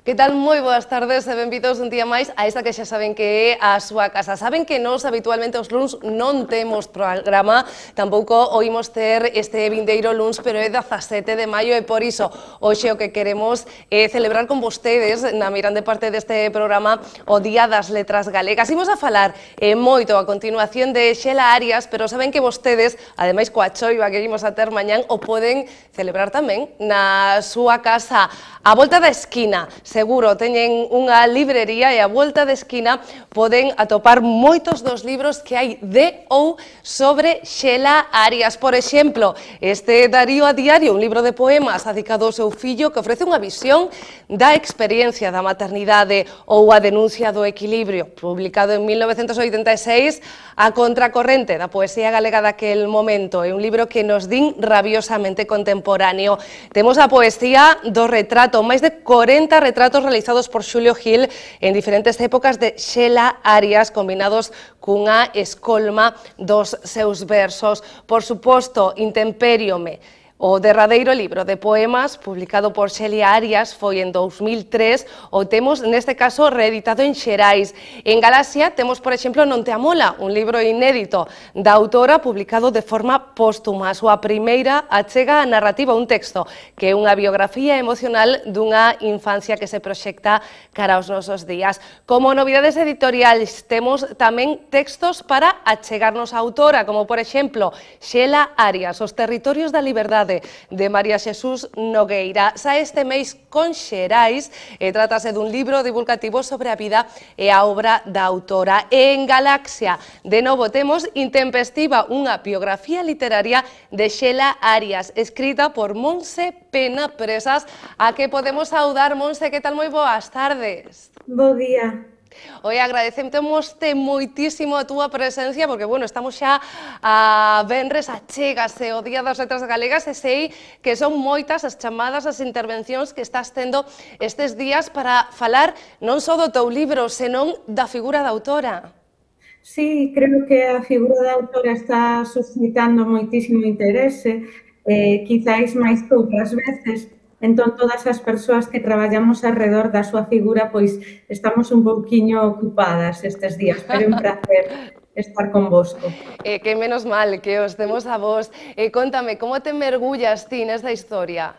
Que tal? Moi boas tardes e benvidos un día máis a esta que xa saben que é a súa casa. Saben que nós habitualmente os luns non temos programa, tampouco oímos ter este vindeiro luns, pero é 17 de maio e por iso hoxe o que queremos é celebrar con vostedes na mirande parte deste programa o Día das Letras Galegas. Imos a falar moito a continuación de Xela Arias, pero saben que vostedes, ademais coa choiva que imos a ter mañán, o poden celebrar tamén na súa casa. A volta da esquina, seguro, teñen unha librería e a volta da esquina poden atopar moitos dos libros que hai de ou sobre Xela Arias. Por exemplo, este Darío a diario, un libro de poemas dedicado ao seu fillo que ofrece unha visión da experiencia da maternidade, ou a denuncia do equilibrio, publicado en 1986, a contracorrente da poesía galega daquel momento. É un libro que nos din rabiosamente contemporáneo. Temos a poesía do retrato, máis de 40 retratos realizados por Xulio Gil en diferentes épocas de Xela Arias, combinados cunha escolma dos seus versos. Por suposto, Intempériome, o derradeiro libro de poemas publicado por Xela Arias foi en 2003, o temos neste caso reeditado en Xerais. En Galaxia temos, por exemplo, Non te amola, un libro inédito da autora publicado de forma póstuma. A súa primeira achega a narrativa, un texto que é unha biografía emocional dunha infancia que se proxecta cara aos nosos días. Como novidades editoriais temos tamén textos para achegarnos á autora, como por exemplo Xela Arias, Os territorios da liberdade, de María Xesús Nogueira. Sae este mês con Xerais e trátase dun libro divulgativo sobre a vida e a obra da autora. En Galaxia, de novo, temos Intempestiva, unha biografía literaria de Xela Arias, escrita por Monse Pena Presas, a que podemos saudar. Monse, que tal? Moi boas tardes. Bo día. Oi, agradecémoste moitísimo a túa presencia, porque, bueno, estamos xa a venres, achégase o Día das Letras Galegas e sei que son moitas as chamadas, as intervencións que estás tendo estes días para falar non só do teu libro, senón da figura da autora. Sí, creo que a figura da autora está suscitando moitísimo interese, quizáis máis que outras veces. Entón, todas as persoas que traballamos alrededor da súa figura, pois estamos un pouquiño ocupadas estes días, pero é un placer estar convosco. Que menos mal que os temos a vos. Contame, como te mergullas ti nesta historia?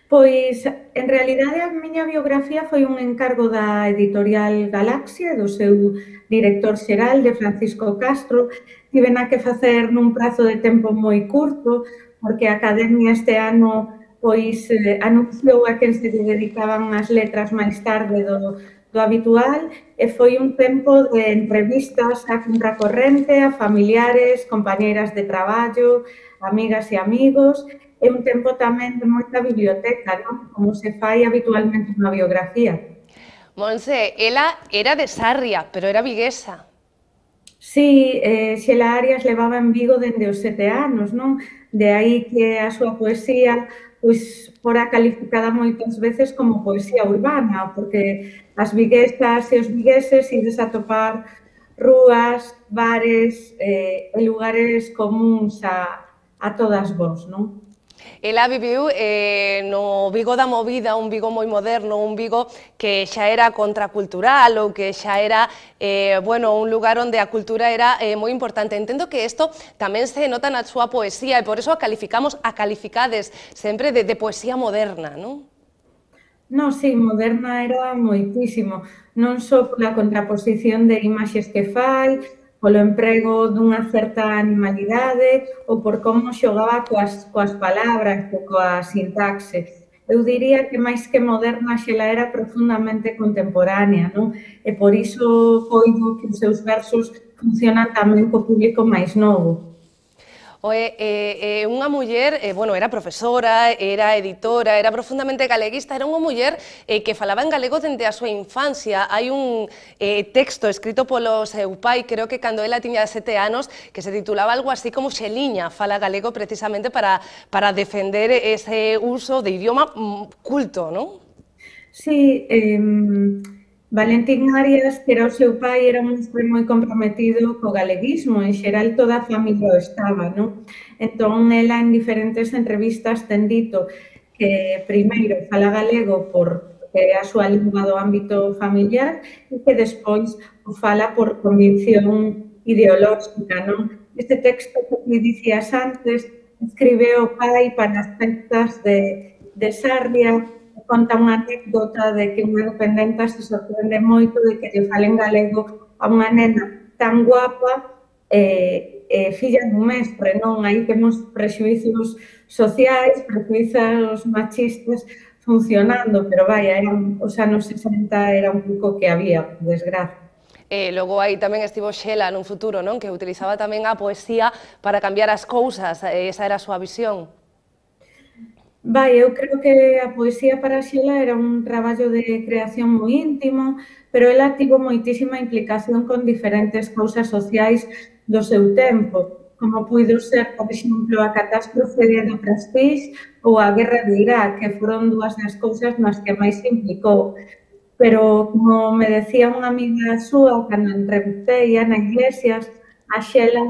Pois, en realidade, a miña biografía foi un encargo da editorial Galaxia, do seu director xeral, de Francisco Castro. Tivena que facer nun prazo de tempo moi curto, porque a Academia este ano pois anunciou a quen se dedicaban as letras máis tarde do habitual e foi un tempo de entrevistas a contracorrente, a familiares, compañeiras de traballo, amigas e amigos, e un tempo tamén de moita biblioteca, non? Como se fai habitualmente unha biografía. Monse, ela era de Sarria, pero era viguesa. Sí, Xela Arias levaba en Vigo dende os 7 anos, non? De aí que a súa poesía pois fora calificada moitas veces como poesía urbana, porque as viguesas e os vigueses ides a topar rúas, bares e lugares comuns a todas vós, non? Ela viviu no Vigo da Movida, un Vigo moi moderno, un Vigo que xa era contracultural ou que xa era, bueno, un lugar onde a cultura era moi importante. Entendo que isto tamén se nota na súa poesía e por iso a calificades sempre de poesía moderna, non? Non, sí, moderna era moitísimo, non só pola contraposición de imaxes que fai, polo emprego dunha certa animalidade ou por como xogaba coas palabras ou coa sintaxe. Eu diría que máis que moderna, Xela era profundamente contemporánea, non? E por iso coido que os seus versos funcionan tamén co público máis novo. Unha muller, bueno, era profesora, era editora, era profundamente galeguista, era unha muller que falaba en galego dende a súa infancia. Hai un texto escrito polo seu pai, creo que cando ela tiña 7 anos, que se titulaba algo así como Xeliña fala galego precisamente para defender ese uso de idioma culto, non? Sí, Valentín Arias, que era o seu pai, era un hombre moi comprometido co galeguismo, en xeral toda a familia o estaba, non? Entón, ela en diferentes entrevistas ten dito que primeiro fala galego por que é a súa lingua do ámbito familiar e que despois o fala por convicción ideolóxica, non? Este texto que dicías antes escribe o pai para as festas de Sarria, conta unha anécdota de que unha dependenta se sorprende moito de que lle falen galego a unha nena tan guapa filla dun mestre, non? Aí temos prexuizos sociais, prexuizos machistas funcionando, pero vaya, os anos 60 era un pouco que había, por desgracia. Logo aí tamén estivo Xela nun futuro, non? Que utilizaba tamén a poesía para cambiar as cousas, esa era a súa visión. Vai, eu creo que a poesía para Xela era un traballo de creación moi íntimo, pero ela tivo moitísima implicación con diferentes cousas sociais do seu tempo, como puido ser, por exemplo, a catástrofe do Prestige ou a guerra de Irak, que foron dúas das cousas nas que máis se implicou. Pero, como me decía unha amiga súa, cando entrevistei a Ana Iglesias, a Xela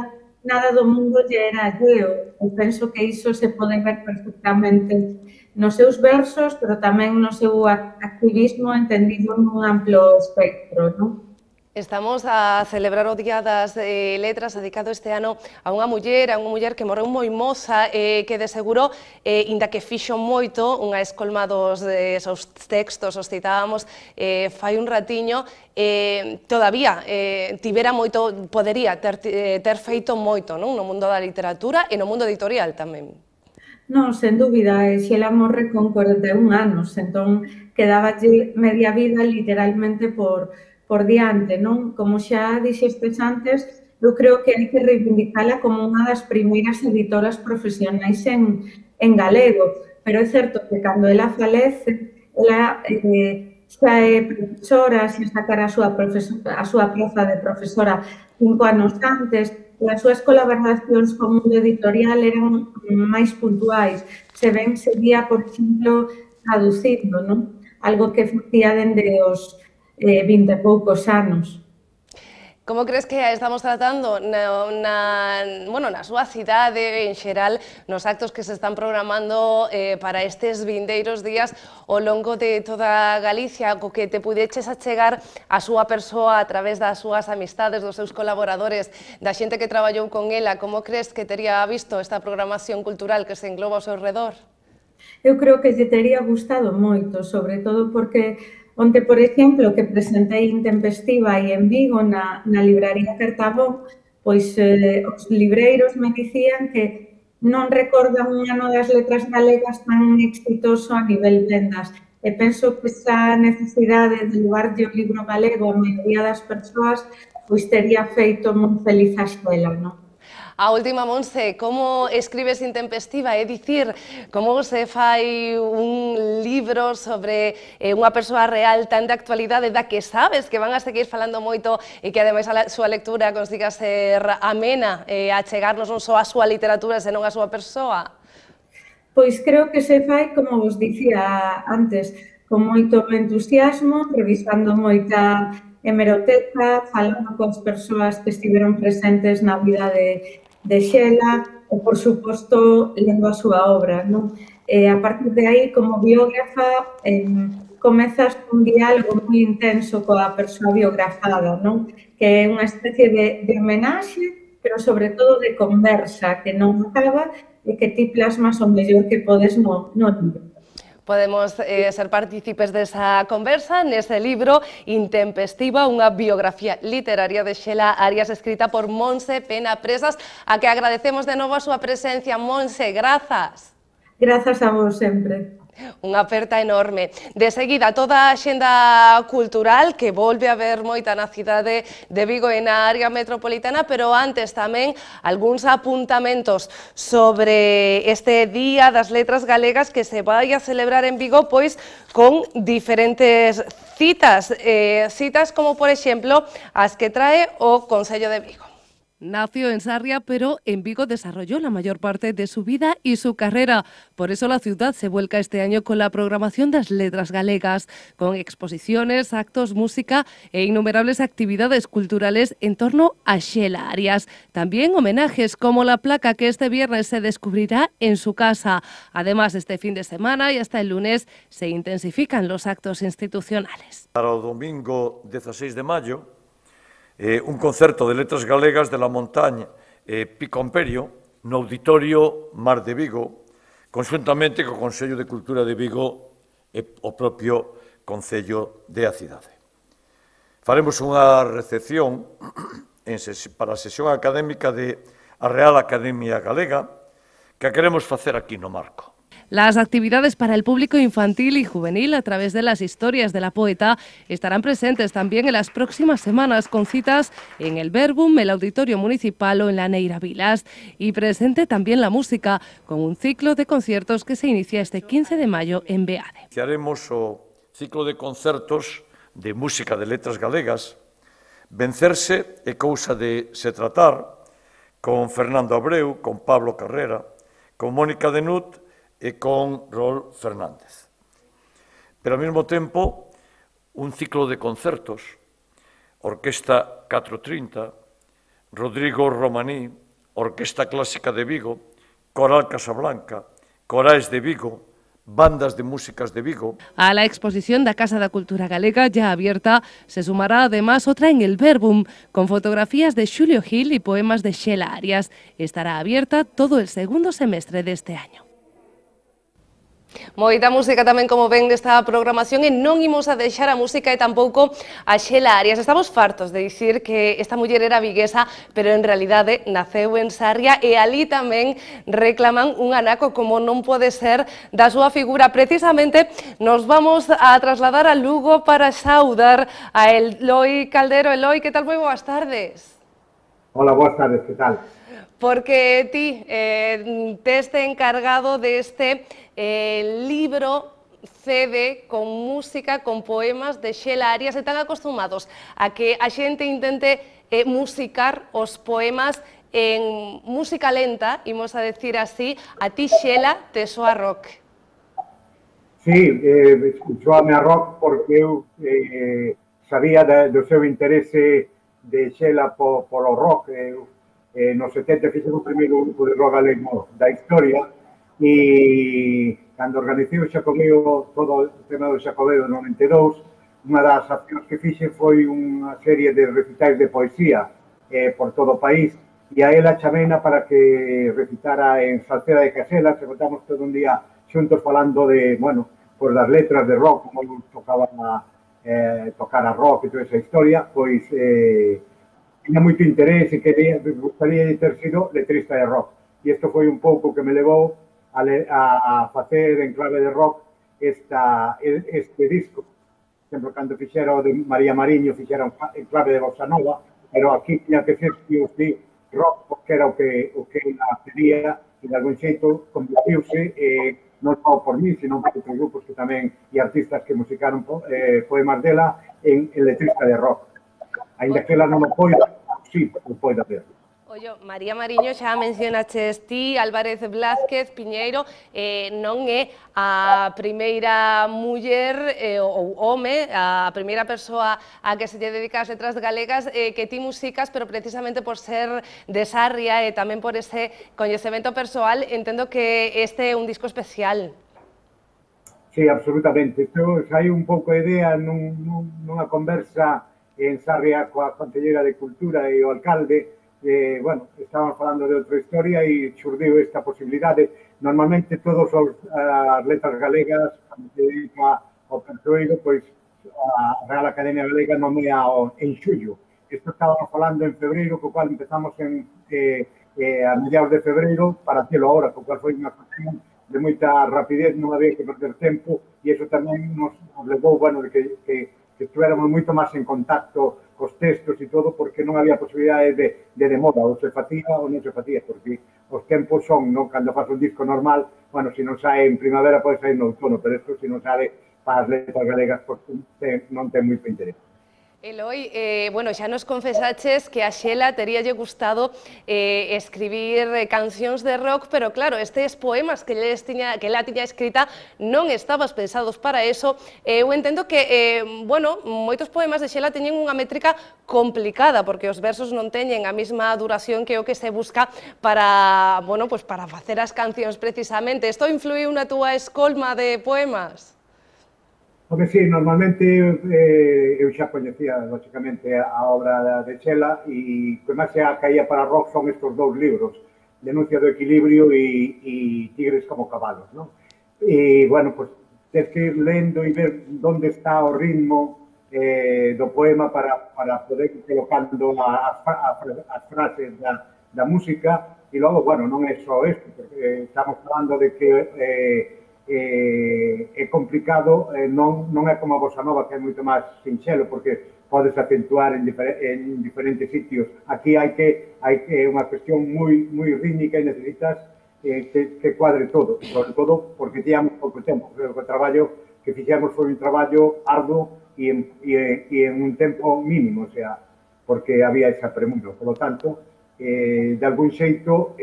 nada do mundo lle era alleo. Eu penso que iso se pode ver perfectamente nos seus versos, pero tamén no seu activismo entendido nun amplo espectro, non? Estamos a celebrar o Día das Letras dedicado este ano a unha muller que morreu moi moza, que de seguro, inda que fixo moito, unha escolma dos seus textos, os citábamos fai un ratiño, todavía tivera moito, podería ter feito moito no mundo da literatura e no mundo editorial tamén. Non, sen dúbida, Xela morre con 41 anos, entón quedaba media vida literalmente por diante, non? Como xa dixestes antes, eu creo que hai que reivindicala como unha das primeiras editoras profesionais en galego, pero é certo que cando ela falece, ela xa é profesora, xa sacara a súa praza de profesora 5 anos antes, e as súas colaboracións co mundo editorial eran máis puntuais. Se ben seguía, por exemplo, traducindo, non? Algo que facía dende os 20 e poucos anos. Como crees que estamos tratando na súa cidade en xeral, nos actos que se están programando para estes vindeiros días ao longo de toda Galicia, co que te pudeches achegar a súa persoa a través das súas amistades, dos seus colaboradores, da xente que traballou con ela? Como crees que tería visto esta programación cultural que se engloba ao seu redor? Eu creo que lle tería gustado moito, sobre todo porque onte, por exemplo, que presentei Intempestiva e en Vigo, na libraría Cartabón, pois os libreiros me dicían que non recordan un ano das letras galegas tan exitoso a nivel vendas. E penso que esa necesidade de levarlle o libro galego a maioría das persoas pois tería feito moi feliz a Xela, non? A última, Montse, como escribes Intempestiva? É dicir, como se fai un libro sobre unha persoa real tan de actualidade da que sabes que van a seguir falando moito e que ademais a súa lectura consiga ser amena e achegarnos non só a súa literatura, senón a súa persoa? Pois creo que se fai, como vos dicía antes, con moito entusiasmo, revisando moita hemeroteca, falando coas persoas que estiveron presentes na vida de Xela e, por suposto, lendo a súa obra, non? A partir de aí, como biógrafa, comezas un diálogo moi intenso coa persoa biografada, non? Que é unha especie de homenaxe, pero sobre todo de conversa, que non acaba e que ti plasmas o mellor que podes no libro. Podemos ser partícipes desa conversa nese libro Intempestiva, unha biografía literaria de Xela Arias escrita por Montse Pena Presas, a que agradecemos de novo a súa presencia. Montse, grazas. Grazas a vos sempre. Unha aperta enorme. De seguida, toda a xenda cultural que volve a ver moita na cidade de Vigo e na área metropolitana, pero antes tamén algúns apuntamentos sobre este Día das Letras Galegas que se vai a celebrar en Vigo, pois con diferentes citas, citas como, por exemplo, as que trae o Concello de Vigo. Nació en Sarria, pero en Vigo desarrolló la mayor parte de su vida y su carrera. Por eso la ciudad se vuelca este año con la programación das Letras Galegas, con exposiciones, actos, música e innumerables actividades culturales en torno a Xela Arias. También homenajes como la placa que este viernes se descubrirá en su casa. Además, este fin de semana y hasta el lunes se intensifican los actos institucionales. Para o domingo 16 de maio, un concerto de letras galegas de la Montaña Pico Imperio no Auditorio Mar de Vigo, conxuntamente co Consello de Cultura de Vigo e o propio Concello de a cidade. Faremos unha recepción para a sesión académica de a Real Academia Galega que queremos facer aquí no Marco. Las actividades para el público infantil y juvenil a través de las historias de la poeta estarán presentes también en las próximas semanas con citas en el Verbum, el Auditorio Municipal o en la Neira Vilas. Y presente también la música con un ciclo de conciertos que se inicia este 15 de mayo en Beade. Iniciaremos o ciclo de concertos de música de letras galegas Vencerse é cousa de se tratar con Fernando Abreu, con Pablo Carrera, con Mónica Denut e con Rol Fernández. Pero ao mesmo tempo, un ciclo de concertos, Orquesta 430, Rodrigo Romaní, Orquesta Clásica de Vigo, Coral Casablanca, Corais de Vigo, bandas de músicas de Vigo. A la exposición da Casa da Cultura Galega ya abierta se sumará además otra en el Verbum, con fotografías de Xulio Gil y poemas de Xela Arias. Estará abierta todo el segundo semestre de este año. Moita música tamén, como ven, desta programación, e non imos a deixar a música e tampouco a Xela Arias. Estamos fartos de dicir que esta muller era viguesa, pero en realidade naceu en Sarria e ali tamén reclaman un anaco como non pode ser da súa figura. Precisamente nos vamos a trasladar a Lugo para saudar a Eloi Caldero. Eloi, que tal? Moi boas tardes. Hola, boas tardes, que tal? Porque ti teste encargado deste libro CD con música, con poemas de Xela Arias, e tan acostumados a que a xente intente musicar os poemas en música lenta, imos a decir así, a ti, Xela, te soa rock. Sí, escuchouame a rock porque eu sabía do seu interese de Xela polo rock. Nos 70 fixemos o primeiro grupo de rock galego da historia e cando organicei o Xacobeo, todo o tema do Xacobeo do 92, unha das accións que fixen foi unha serie de recitais de poesía por todo o país e a ela chamena para que recitara en Salceda de Casela, se contamos todo un día xuntos falando de, bueno, pues das letras de rock, como tocaban tocar a rock e toda esa historia, pois tiña moito interés e gustaría ter sido letrista de rock. E isto foi un pouco que me levou a facer en clave de rock este disco. Por exemplo, cando fixera o de María Mariño, fixera en clave de bossa nova, pero aquí tiña que ser rock, porque era o que ela pedía, e de algún xeito convirtiuse, non só por mí, sino por outros grupos que tamén, e artistas que musicaron poemas dela en letrista de rock. Ainda que ela non o poida, sí, o poida ver. Ollo, María Mariño, xa mencionaches ti, Álvarez Blázquez, Piñeiro, non é a primeira muller ou home, a primeira persoa a que se lle dedica as letras galegas que ti musicas, pero precisamente por ser de Sarria e tamén por ese coñecemento persoal, entendo que este é un disco especial. Sí, absolutamente. Isto saiu un pouco de idea nunha conversa en Sarria coa Conselleira de Cultura e o alcalde. Bueno, estábamos falando de outra historia e xurdiu esta posibilidade. Normalmente todas as letras galegas, cando se dedica ao persoeiro, pois a Real Academia Galega nomea en xullo. Isto estábamos falando en febreiro, co cual empezamos a mediados de febreiro para hacerlo ahora, co cual foi unha cuestión de moita rapidez, non había que perder tempo, e iso tamén nos levou, bueno, de que estuéramos moito máis en contacto cos textos e todo, porque non había posibilidade de demora, ou se facía ou non se facía, porque os tempos son, non, cando faz un disco normal, bueno, se non sae en primavera, pode sair no outono, pero isto, se non sabe para as letras galegas, non ten moito interés. Eloi, bueno, xa nos confesaches que a Xela teríalle gustado escribir cancións de rock, pero claro, estes poemas que ela tiña escrita non estabas pensados para eso. Eu entendo que, bueno, moitos poemas de Xela teñen unha métrica complicada, porque os versos non teñen a mesma duración que o que se busca para, bueno, pues para facer as cancións precisamente. Isto influiu na túa escolma de poemas? Porque sí, normalmente eu xa coñecía, lógicamente, a obra de Xela e o que máis xa caía para rock son estes dous libros, Denuncia do equilibrio e Tigres como cabalos, non? E, bueno, pues, tens que ir lendo e ver onde está o ritmo do poema para poder ir colocando as frases da música e logo, bueno, non é só isto, porque estamos falando de que é complicado, non é como a bossa nova, que é moito máis sinxelo, porque podes acentuar en diferentes sitios. Aquí hai que unha cuestión moi rítmica e necesitas que cuadre todo, sobre todo porque teníamos pouco tempo. Creo que o traballo que fixemos foi un traballo arduo e en un tempo mínimo, o sea, porque había esa premura. Por lo tanto, de algún xeito,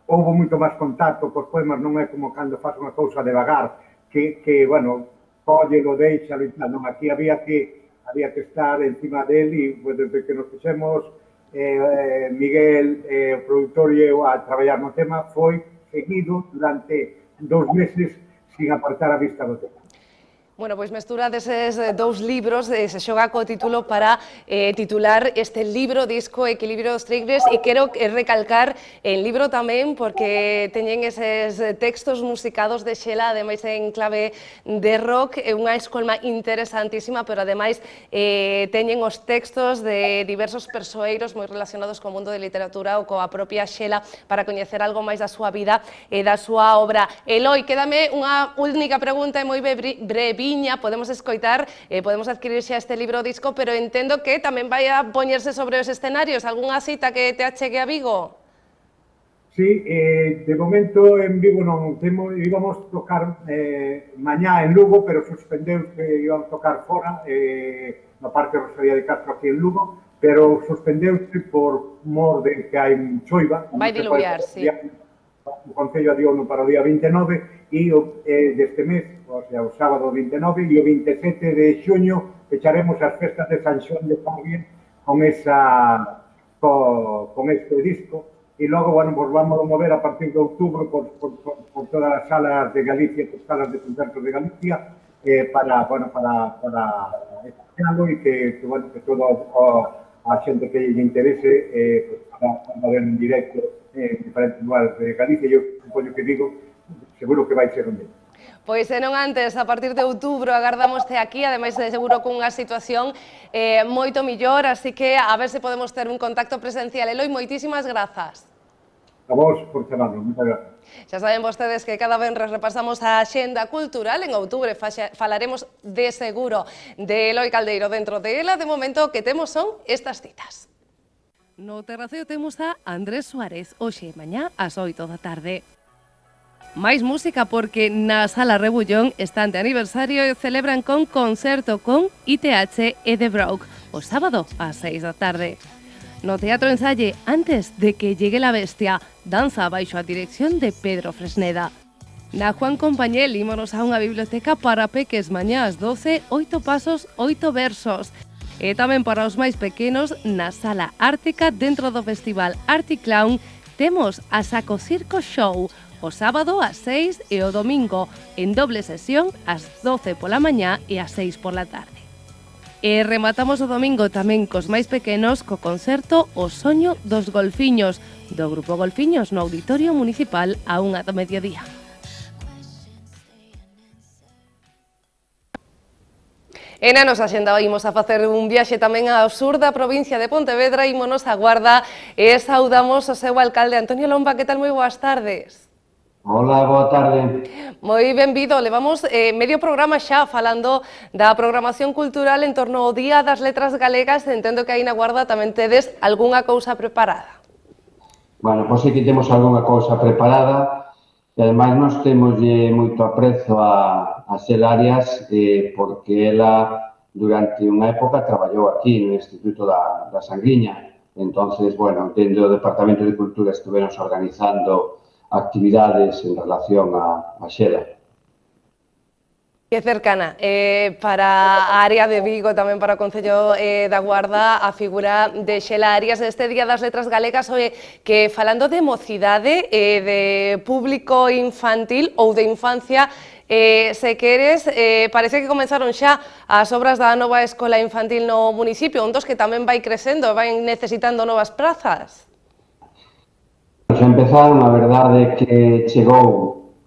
houve moito máis contacto cos poemas, non é como cando faz unha cousa devagar, que bueno, cóllelo, deixalo e tal, non, aquí había que estar encima del e, desde que nos fixemos Miguel, o produtor e eu a traballar no tema, foi seguido durante 2 meses sin apartar a vista do tema. Bueno, pois mestura deses dous libros se xoga co título para titular este libro, disco Equilibrio dos Tigres, e quero recalcar en libro tamén porque teñen eses textos musicados de Xela, ademais en clave de rock, é unha escolma interesantísima, pero ademais teñen os textos de diversos persoeiros moi relacionados co mundo de literatura ou coa propia Xela para coñecer algo máis da súa vida e da súa obra. Eloi, quédame unha única pregunta e moi breve. Podemos escoitar, podemos adquirir xa este libro disco, pero entendo que tamén vai a poñerse sobre os escenarios. Algúnha cita que te achegue a Vigo? Sí, de momento en Vigo non temos, íbamos tocar mañá en Lugo, pero suspendeu que íbamos tocar fora, na parte de Rosalía de Castro aquí en Lugo, pero suspendeuse por mor de que hai choiva. Vai diluviar, sí. O Concello adiouno para o día 29 e deste mes, o sea, o sábado 29 e o 27 de xuño fecharemos as festas de San Xoán de Fabien con este disco e logo, bueno, pues vamos a mover a partir de outubro por todas as salas de Galicia, por salas de concertos de Galicia para escucharlo e que todo a xente que lle interese para ver en directo en diferentes lugares de Galicia. Eu supoño que digo, seguro que vai ser un día. Pois se non antes, a partir de outubro agardamoste aquí, ademais de seguro cunha situación moito millor, así que a ver se podemos ter un contacto presencial. Eloi, moitísimas grazas. A vos por chamarnos, moitas grazas. Xa saben vostedes que cada venres repasamos a axenda cultural. En outubro falaremos de seguro de Eloi Caldeiro dentro de ela. De momento o que temos son estas citas. No Terraceo temos a Andrés Suárez, hoxe e mañá ás 8 da tarde. Máis música porque na Sala Rebullón están de aniversario e celebran con concerto con ITH e The Broke o sábado ás 6 da tarde. No Teatro Ensalle, antes de que llegue la bestia, danza baixo a dirección de Pedro Fresneda. Na Juan Compañel ímonos a unha biblioteca para peques mañá ás 12, 8 pasos, 8 versos. E tamén para os máis pequenos, na Sala Ártica, dentro do Festival Articlown, temos a Saco Circo Show, o sábado ás 6 e o domingo, en doble sesión, ás 12 pola mañá e ás 6 pola tarde. E rematamos o domingo tamén cos máis pequenos co concerto O Soño dos Golfiños, do Grupo Golfiños no Auditorio Municipal a 1 do mediodía. E na nosa axenda imos a facer un viaxe tamén ao sur da provincia de Pontevedra, ímonos a Guarda e saudamos o seu alcalde Antonio Lomba. Que tal? Moi boas tardes. Hola, boa tarde. Moi benvido. Levamos medio programa xa falando da programación cultural en torno ao Día das Letras Galegas. Entendo que aí na Guarda tamén tedes algunha cousa preparada. Bueno, pois aquí temos algunha cousa preparada e ademais nos temos moito aprezo a Xela Arias porque ela durante unha época traballou aquí no Instituto da Sanguiña. Entonces, bueno, dentro do Departamento de Cultura estuveronse organizando actividades en relación a Xela. Que cercana para a área de Vigo, tamén para o Concello da Guarda, a figura de Xela Arias neste Día das Letras Galegas, que falando de mocidade, de público infantil ou de infancia, se queres, parece que comenzaron xa as obras da nova escola infantil no municipio, un dos que tamén vai crecendo, vai necesitando novas prazas. Xa empezaron, a verdade que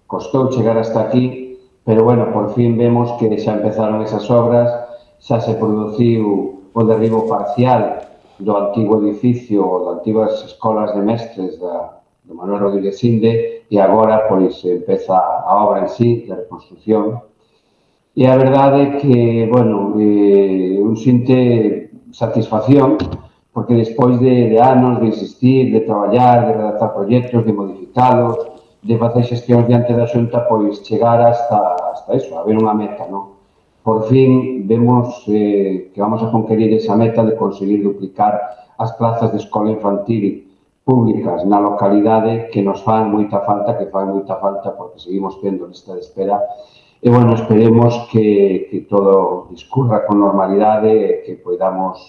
costou chegar hasta aquí, pero, bueno, por fin vemos que xa empezaron esas obras, xa se produciu o derribo parcial do antigo edificio, das antigas escolas de mestres do Manuel Rodríguez Sinde, e agora, pois, empeza a obra en sí, de reconstrucción. E a verdade é que, bueno, un sinte satisfacción, porque despois de anos de insistir, de traballar, de redactar proxectos, de modificalos, de facer xestións diante da Xunta, pois chegar hasta iso, a ver unha meta, non? Por fin vemos que vamos a conquerir esa meta de conseguir duplicar as plazas de escola infantil públicas na localidade que nos fan moita falta, porque seguimos tendo lista de espera. E, bueno, esperemos que todo discurra con normalidade e que podamos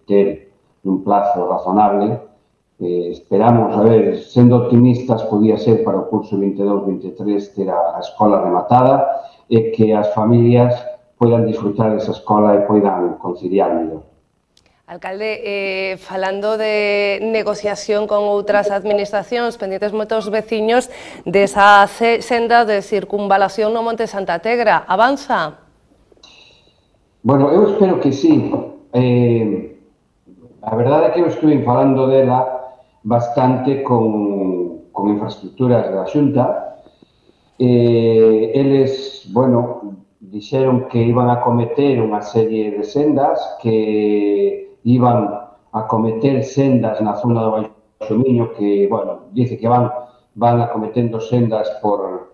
ter un plazo razonable. Esperamos, a ver, sendo optimistas, podía ser para o curso 22-23 ter a escola rematada e que as familias poidan disfrutar desa escola e poidan conciliar mellor. Alcalde, falando de negociación con outras administracións, pendientes moitos veciños desa senda de circunvalación no Monte Santa Tegra, avanza? Bueno, eu espero que sí. A verdade é que eu estuve falando dela bastante con infraestructuras da Xunta. Eles, bueno, dixeron que iban a cometer unha serie de sendas, que iban a cometer sendas na zona do Baixo Miño, que, bueno, dice que van acometendo sendas por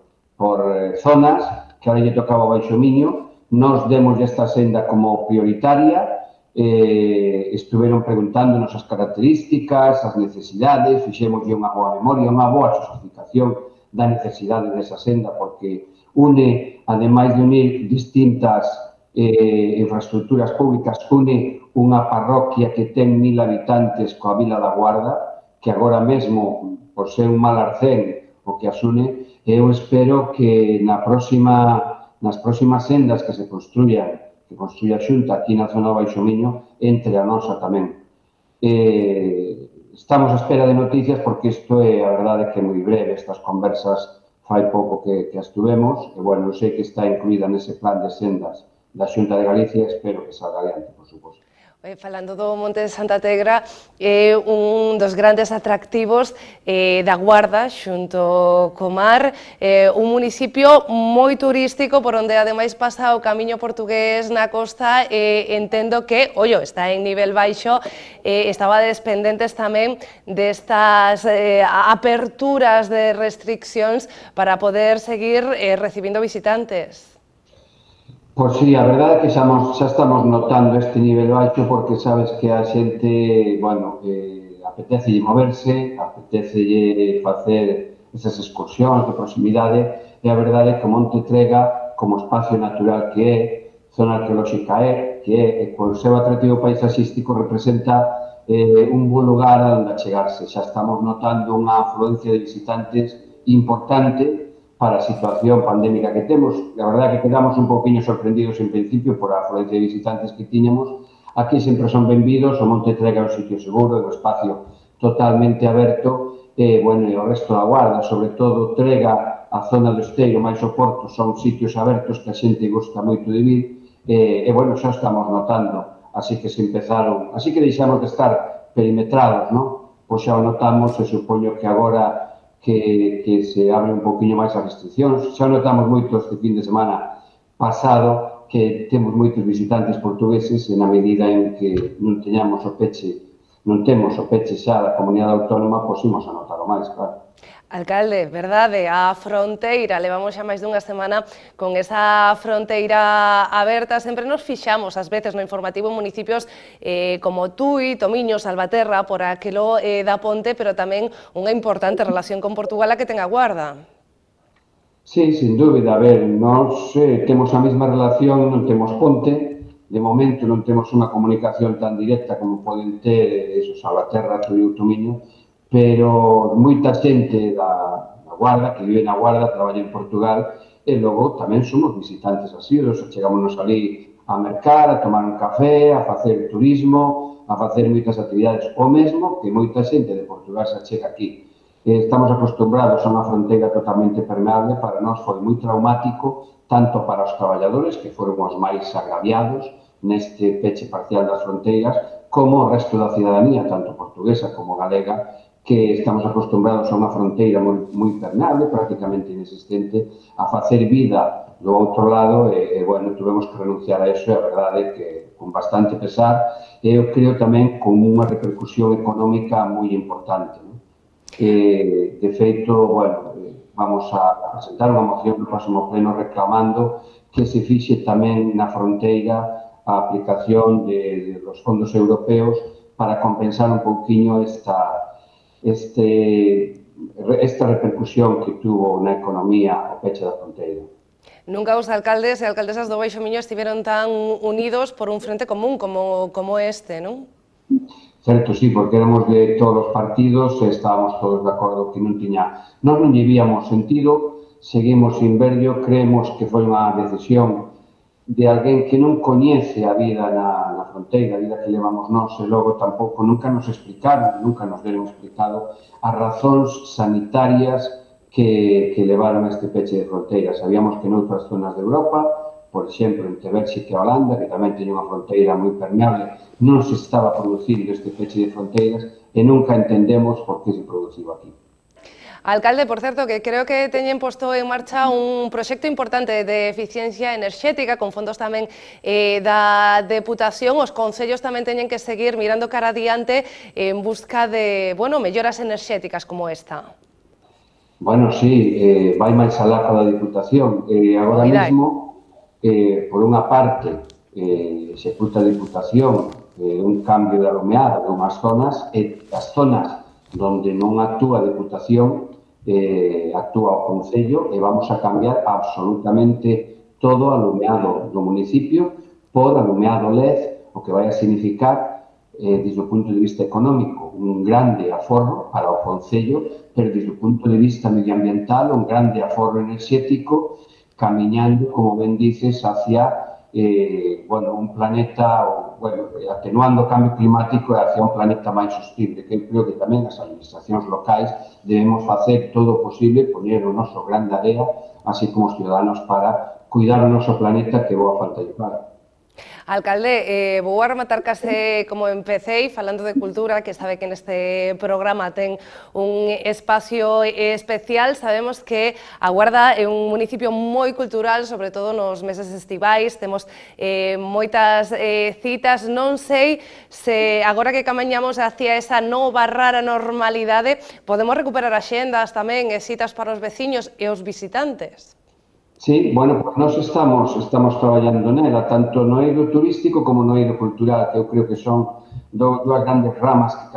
zonas, que ahora lle tocaba o Baixo Miño. Nos demos esta senda como prioritaria, estuveron preguntándonos as características, as necesidades, fixémoslle unha boa memoria, unha boa xustificación da necesidade desa senda, porque une, ademais de unir distintas infraestructuras públicas, une unha parroquia que ten 1000 habitantes coa Vila da Guarda, que agora mesmo, por ser un mal arcén, o que as une. Eu espero que nas próximas sendas que se construya a Xunta aquí na zona do Baixo Miño, entre a nosa tamén. Estamos a espera de noticias, porque isto é, a verdade, que é moi breve. Estas conversas fai pouco que as tuvemos, e, bueno, sei que está incluída nese plan de sendas da Xunta de Galicia, e espero que salga adiante, por suposto. Falando do Monte de Santa Tegra, é un dos grandes atractivos da Guarda, xunto co mar, un municipio moi turístico, por onde ademais pasa o camiño portugués na costa, entendo que, está en nivel baixo, estabades pendentes tamén destas aperturas de restriccións para poder seguir recibindo visitantes. Pois sí, a verdade é que xa estamos notando este nivel baixo, porque sabes que a xente, bueno, apetece moverse, apetece facer esas excursións de proximidade, e a verdade é que o Monte Trega, como espacio natural que é, zona arqueolóxica que é, co seu atractivo paisaxístico representa un bo lugar a onde achegarse. Xa estamos notando unha afluencia de visitantes importante para a situación pandémica que temos. A verdade é que quedamos un pouquinho sorprendidos en principio por a afluencia de visitantes que tiñamos. Aquí sempre son benvidos, o Monte Trega é un sitio seguro, é un espacio totalmente aberto, e, bueno, e o resto da Guarda, sobre todo Trega, a zona do Esteiro, máis o Porto, son sitios abertos que a xente gosta moito de vir, e, bueno, xa estamos notando, así que deixamos de estar perimetrados, non? Pois xa o notamos, e supoño que agora que se abre un pouquinho máis as restriccións. Xa notamos moito este fin de semana pasado que temos moitos visitantes portugueses, e na medida en que non temos o peche xa da comunidade autónoma, pois imos a notar o máis, claro. Alcalde, verdade, a fronteira, levamos xa máis dunha semana con esa fronteira aberta, sempre nos fixamos ás veces no informativo en municipios como Tui, Tomiño, Salvaterra, por aquilo da Ponte, pero tamén unha importante relación con Portugal a que ten a Guarda. Sí, sin dúbida, a ver, nós temos a mesma relación, non temos ponte, de momento non temos unha comunicación tan directa como poden ter Salvaterra, Tui ou Tomiño, pero moita xente da Guarda, que vive na Guarda, traballa en Portugal, e logo tamén somos visitantes asiduos, chegámonos ali a mercar, a tomar un café, a facer turismo, a facer moitas actividades, o mesmo que moita xente de Portugal se achega aquí. Estamos acostumbrados a unha fronteira totalmente permeable, para nós foi moi traumático, tanto para os traballadores, que foron os máis agraviados neste peche parcial das fronteiras, como o resto da cidadanía, tanto portuguesa como galega, que estamos acostumbrados a unha fronteira moi permeable, prácticamente inexistente, a facer vida do outro lado, e, bueno, tuvemos que renunciar a eso, e a verdade é que con bastante pesar, e eu creo tamén con unha repercusión económica moi importante. De feito, bueno, vamos a presentar unha moción no próximo pleno reclamando que se fixe tamén na fronteira a aplicación dos fondos europeos para compensar un pouquiño esta repercusión que tuvo na economía o peche da fronteira. Nunca os alcaldes e alcaldesas do Baixo Miño estiveron tan unidos por un frente común como este, non? Certo, sí, porque éramos de todos os partidos e estábamos todos de acordo que non tiña... Nós non lle víamos sentido, seguimos sin verlo, creemos que foi unha decisión de alguén que non coñece a vida na fronteira, a vida que levamos nós, e logo tampouco nunca nos explicaron, nunca nos deron explicado as razóns sanitarias que levaron a este peche de fronteiras. Sabíamos que noutras zonas de Europa, por exemplo, entre Bélxica e Holanda, que tamén teñen unha fronteira moi permeable, non se estaba producindo este peche de fronteiras e nunca entendemos por que se produciu aquí. Alcalde, por certo, que creo que teñen posto en marcha un proxecto importante de eficiencia enerxética, con fondos tamén da Deputación. Os concellos tamén teñen que seguir mirando cara adiante en busca de, bueno, melloras enerxéticas como esta. Bueno, sí, vai máis alá da Diputación. Agora mesmo, por unha parte, executa a Diputación un cambio de alumeada de unhas zonas, e as zonas onde non actúa a Diputación, actúa o Concello, e vamos a cambiar absolutamente todo o alumeado do municipio por alumeado LED, o que vai a significar, desde o punto de vista económico, un grande aforro para o Concello, pero desde o punto de vista medioambiental, un grande aforro enerxético, camiñando, como ben dices, hacia un planeta, atenuando o cambio climático e hacia un planeta máis sostible, que eu creo que tamén as administracións locais debemos facer todo o posible, poñer o noso grande area, así como os ciudadanos, para cuidar o noso planeta, que boa falta lle para. Alcalde, vou a rematar case como empecéi, falando de cultura, que sabe que neste programa ten un espacio especial. Sabemos que a Guarda é un municipio moi cultural, sobre todo nos meses estivais, temos moitas citas. Non sei se agora que camiñamos hacia esa nova rara normalidade, podemos recuperar axendas tamén e citas para os veciños e os visitantes. Sí, bueno, pues nós estamos traballando nela, tanto no eido turístico como no eido cultural, que eu creo que son dúas grandes ramas que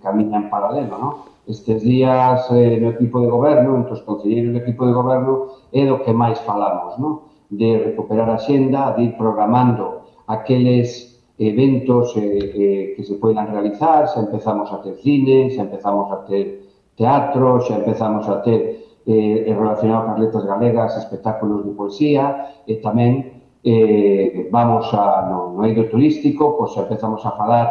camiñan paralelo, non? Estes días no equipo de goberno, entre os concelleiros do equipo de goberno, é do que máis falamos, non? De recuperar a xenda, de ir programando aqueles eventos que se poidan realizar, xa empezamos a ter cine, xa empezamos a ter teatro, xa empezamos a ter relacionado con as letras galegas, espectáculos de poesía, e tamén vamos no eido turístico, pois empezamos a falar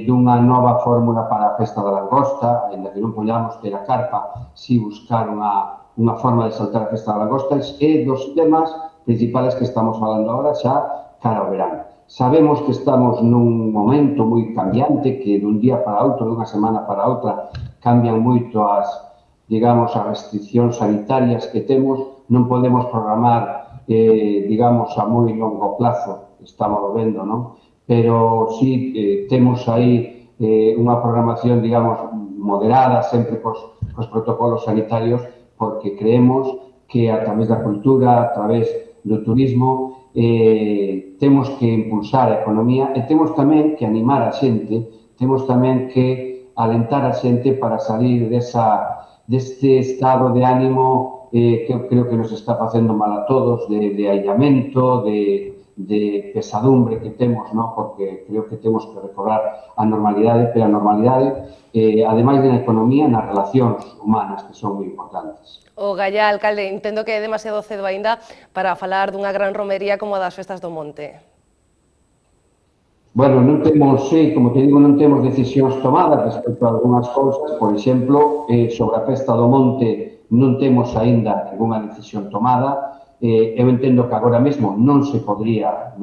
dunha nova fórmula para a festa da langosta, ainda que non podamos ter a carpa, si buscar unha forma de saltar a festa da langosta, e dos temas principales que estamos falando agora xa cara ao verán. Sabemos que estamos nun momento moi cambiante, que dun día para outro, dunha semana para outra, cambian moito as restriccións sanitarias que temos, non podemos programar, a moi longo plazo, estamos vendo, non? Pero sí temos aí unha programación, moderada, sempre cos protocolos sanitarios, porque creemos que a través da cultura, a través do turismo, temos que impulsar a economía e temos tamén que animar a xente, temos tamén que alentar a xente para salir deste estado de ánimo que eu creo que nos está facendo mal a todos, de aillamento, de pesadumbre que temos, ¿no? Porque creo que temos que recobrar a normalidade, pero a normalidade, ademais de na economía, nas relacións humanas, que son moi importantes. O Gallá, alcalde, entendo que é demasiado cedo aínda para falar dunha gran romería como a das Festas do Monte. Bueno, non temos, como te digo, non temos decisións tomadas respecto a algunhas cousas. Por exemplo, sobre a Festa do Monte non temos aínda ninguna decisión tomada. Eu entendo que agora mesmo non se podría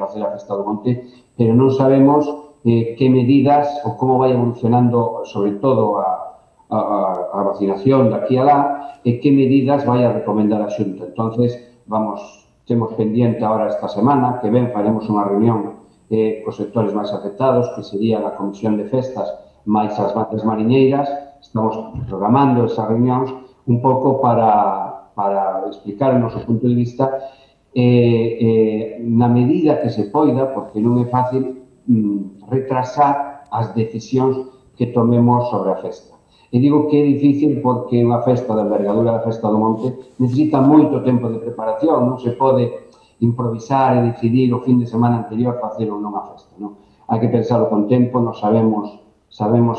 facer a Festa do Monte, pero non sabemos que medidas ou como vai evolucionando, sobre todo a vacinación daqui a lá, e que medidas vai a recomendar a Xunta. Entonces, temos pendiente agora esta semana, que ben faremos unha reunión cos sectores máis afectados, que serían a Comisión de Festas máis as bandas mariñeiras. Estamos programando esas reunións un pouco para explicar o noso punto de vista na medida que se poida, porque non é fácil retrasar as decisións que tomemos sobre a festa. E digo que é difícil porque unha festa da envergadura da Festa do Monte necesita moito tempo de preparación, non se pode improvisar e decidir o fin de semana anterior facer ou non a festa, non? Hai que pensarlo con tempo, nos sabemos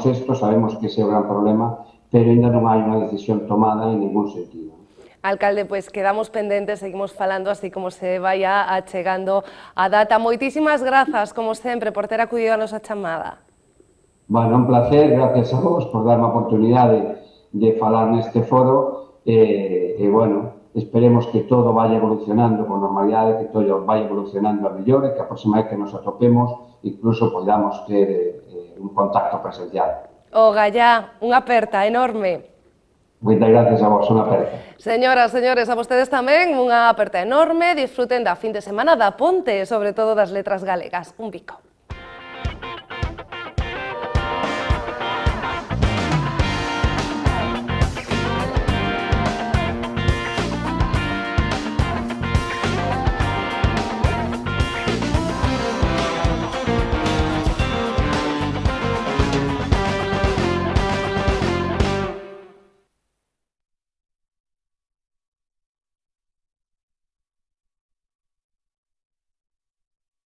isto, sabemos que ese é o gran problema, pero ainda non hai unha decisión tomada en ningún sentido. Alcalde, pois quedamos pendentes, seguimos falando así como se vaya achegando a data. Moitísimas grazas, como sempre, por ter acudido a nosa chamada. Bueno, un placer, gracias a vos por darme a oportunidade de falar neste foro e, bueno, esperemos que todo vaya evolucionando con normalidade, que todo vaya evolucionando a mellor e que a próxima vez que nos atopemos incluso podamos ter un contacto presencial. O Gallá, unha aperta enorme. Moitas gracias a vos, unha aperta. Señoras, señores, a vostedes tamén unha aperta enorme, disfruten da fin de semana da Ponte, sobre todo das letras galegas. Un bico.